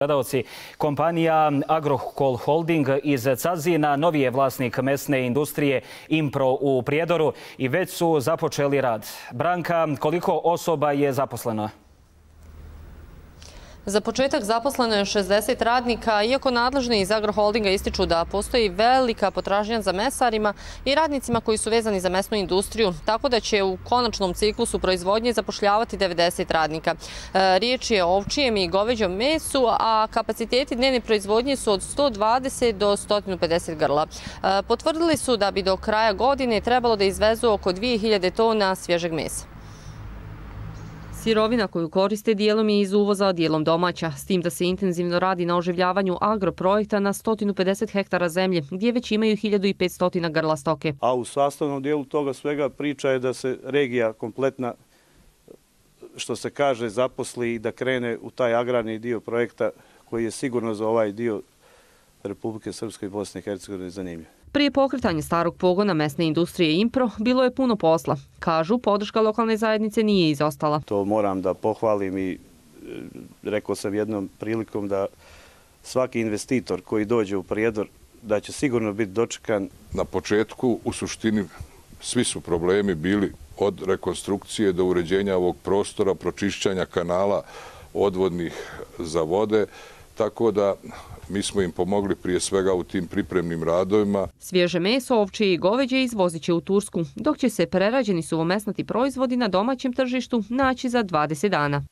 Gledalci, kompanija Agrokol Holding iz Cazina novi je vlasnik mesne industrije Impro u Prijedoru i već su započeli rad. Branka, koliko osoba je zaposleno? Za početak zaposleno je 60 radnika, iako nadležni iz Agroholdinga ističu da postoji velika potražnja za mesarima i radnicima koji su vezani za mesnu industriju, tako da će u konačnom ciklusu proizvodnje zapošljavati 90 radnika. Riječ je o ovčijem i goveđom mesu, a kapaciteti dnevne proizvodnje su od 120 do 150 grla. Potvrdili su da bi do kraja godine trebalo da izvezu oko 2000 tona svježeg mesa. Sirovina koju koriste dijelom je iz uvoza, a dijelom domaća, s tim da se intenzivno radi na oživljavanju agroprojekta na 150 hektara zemlje, gdje već imaju 1500 grla stoke. A u sastavnom dijelu toga svega priča je da se regija kompletna, što se kaže, zaposli i da krene u taj agrarni dio projekta koji je sigurno za ovaj dio Republike Srpske i Bosne i Hercegovine zanimljiv. Prije pokretanja starog pogona mesne industrije Impro bilo je puno posla. Kažu, podrška lokalne zajednice nije izostala. To moram da pohvalim i rekao sam jednom prilikom da svaki investitor koji dođe u Prijedor da će sigurno biti dočekan. Na početku, u suštini, svi su problemi bili od rekonstrukcije do uređenja ovog prostora, pročišćanja kanala odvodnih za vode, tako da mi smo im pomogli prije svega u tim pripremnim radovima. Svježe meso, ovčje i goveđe izvozit će u Tursku, dok će se prerađeni suvomesnati proizvodi na domaćem tržištu naći za 20 dana.